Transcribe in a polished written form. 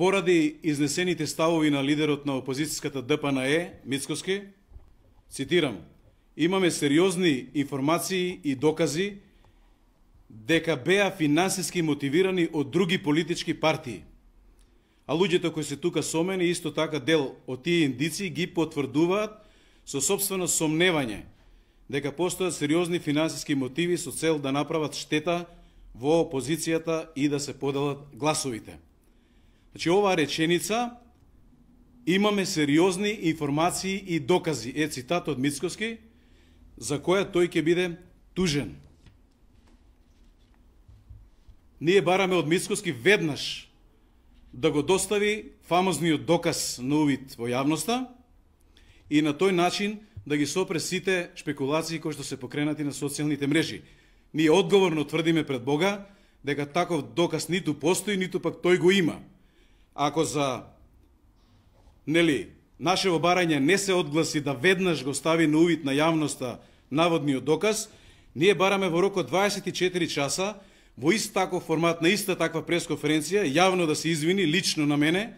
поради изнесените ставови на лидерот на опозицијската ДПНЕ, Мицкоски, цитирам, имаме сериозни информации и докази дека беа финансиски мотивирани од други политички партии. А луѓето кои се тука со мене, исто така дел од тие индици ги потврдуваат со собствено сомневање дека постојат сериозни финансиски мотиви со цел да направат штета во опозицијата и да се поделат гласовите. Значи, оваа реченица, имаме сериозни информации и докази, е цитат од Мицкоски, за која тој ќе биде тужен. Ние бараме од Мицкоски веднаш да го достави фамозниот доказ на увид во јавноста и на тој начин да ги сопре сите шпекулации кои што се покренати на социјалните мрежи. Ние одговорно тврдиме пред Бога дека таков доказ ниту постои, ниту пак тој го има. Ако за нашево барање не се одгласи да веднаш го стави на увид на јавноста наводниот доказ, ние бараме во рок од 24 часа во ист таков формат, на иста таква пресконференција, јавно да се извини лично на мене